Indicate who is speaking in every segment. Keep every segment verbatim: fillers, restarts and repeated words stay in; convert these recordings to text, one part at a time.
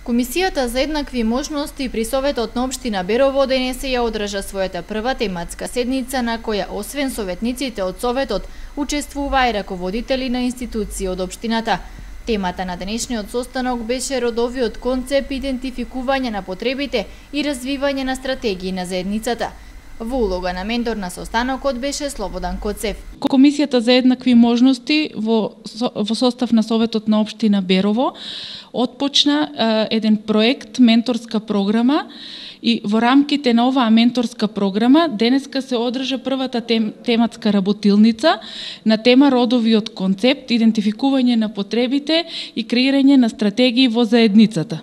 Speaker 1: Комисијата за еднакви можности при Советот на општина Берово денесе ја одржа својата прва тематска седница на која освен советниците од Советот учествуваа и раководители на институции од општината. Темата на денешниот состанок беше родовиот концепт идентификување на потребите и развивање на стратегии на заедницата. Во улога на ментор на состанокот беше Слободан Коцев.
Speaker 2: Комисијата за еднакви можности во, во состав на Советот на општина Берово отпочна е, еден проект, менторска програма, и во рамките на оваа менторска програма денеска се одржа првата тем, тематска работилница на тема родовиот концепт, идентификување на потребите и креирање на стратегии во заедницата.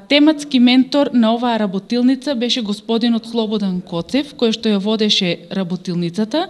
Speaker 2: Тематски ментор на оваа работилница беше господинот Слободан Коцев, кој што ја водеше работилницата.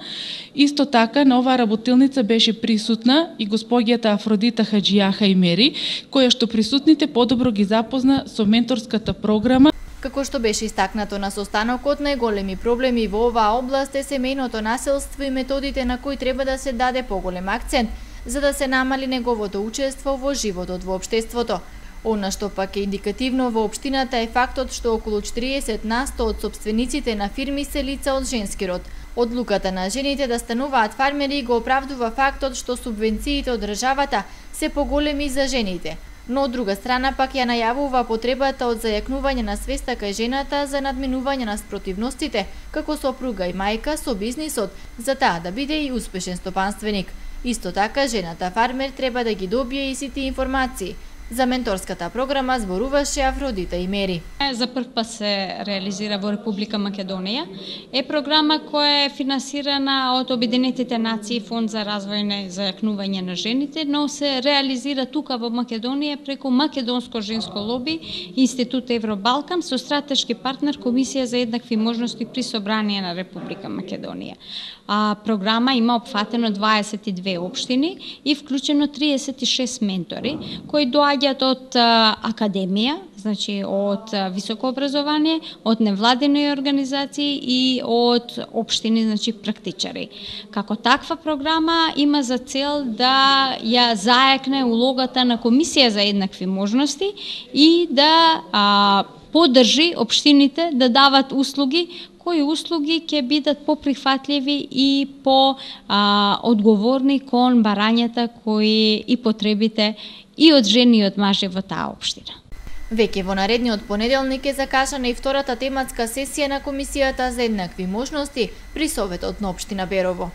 Speaker 2: Исто така на оваа работилница беше присутна и госпоѓата Афродита Хаджијаха Имери, која што присутните подобро ги запозна со менторската програма.
Speaker 1: Како што беше истакнато на состанокот, најголеми проблеми во оваа област е семејното насилство и методите на кои треба да се даде поголем акцент, за да се намали неговото учество во животот во општеството. Она што пак е индикативно во општината е фактот што околу четириесет на сто од сопствениците на фирми се лица од женски род. Одлуката на жените да стануваат фармери го оправдува фактот што субвенциите од државата се поголеми за жените, но од друга страна пак ја најавува потребата од зајакнување на свеста кај жената за надминување на спротивностите како сопруга и мајка со бизнисот, за таа да биде и успешен стопанственик. Исто така, жената фармер треба да ги добие и сите информации. За менторската програма зборуваше Афродита Имери.
Speaker 3: За прв пат се реализира во Република Македонија. Е програма која е финансирана од Обединетите нации, Фонд за развој и зајакнување на жените, но се реализира тука во Македонија преку Македонско женско лоби, Институт Евробалкан со стратешки партнер Комисија за еднакви можности при Собрание на Република Македонија. А, програма има опфатено дваесет и две општини и вклучено триесет и шест ментори кои доаѓаат од а, академија, значи од а, високо образование, од невладини организации и од општини, значи практичари. Како таква програма има за цел да ја зајакне улогата на Комисија за еднакви можности и да а, поддржи општините да дават услуги кои услуги ќе бидат поприфатливи и по а, одговорни кон барањата кои и потребите и од жени и од мажи во таа општина.
Speaker 1: Веќе во наредниот понеделник е закажана и втората тематска сесија на Комисијата за еднакви можности при Советот на општина Берово.